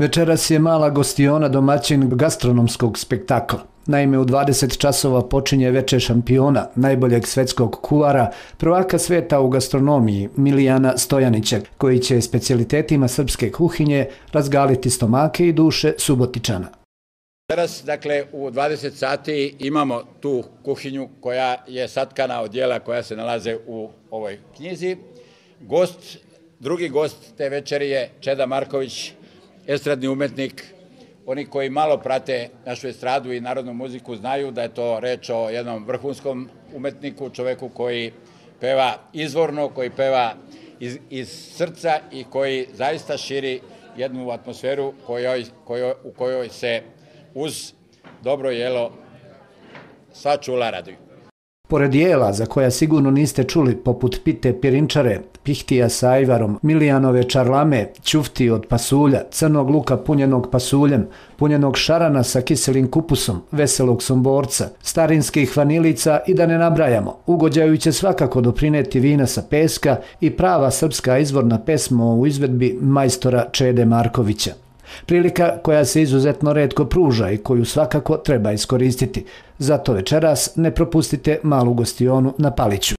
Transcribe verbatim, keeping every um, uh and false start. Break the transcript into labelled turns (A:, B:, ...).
A: Večeras je mala gostiona domaćin gastronomskog spektakla. Naime, u dvadeset časova počinje veče šampiona, najboljeg svetskog kuvara, prvaka sveta u gastronomiji Milijana Stojanića, koji će specijalitetima srpske kuhinje razgaliti stomake i duše Subotičana.
B: Teraz, dakle, u dvadeset sati imamo tu kuhinju koja je satkana od dijela koja se nalaze u ovoj knjizi. Gost, drugi gost te večeri je Čeda Marković, estradni umetnik. Oni koji malo prate našu estradu i narodnu muziku znaju da je to reč o jednom vrhunskom umetniku, čoveku koji peva izvorno, koji peva iz, iz srca i koji zaista širi jednu atmosferu kojoj, kojoj, u kojoj se uz dobro jelo sva čula raduju.
A: Pored jela za koja sigurno niste čuli, poput pite pirinčare, pihtija sa ajvarom, Milijanove čarlame, ćufti od pasulja, crnog luka punjenog pasuljem, punjenog šarana sa kiselim kupusom, veselog somborca, starinskih vanilica i da ne nabrajamo, ugođaju će svakako doprineti vina sa peska i prava srpska izvorna pesma u izvedbi majstora Čede Markovića. Prilika koja se izuzetno retko pruža i koju svakako treba iskoristiti. Zato večeras ne propustite malu gostionu na Paliću.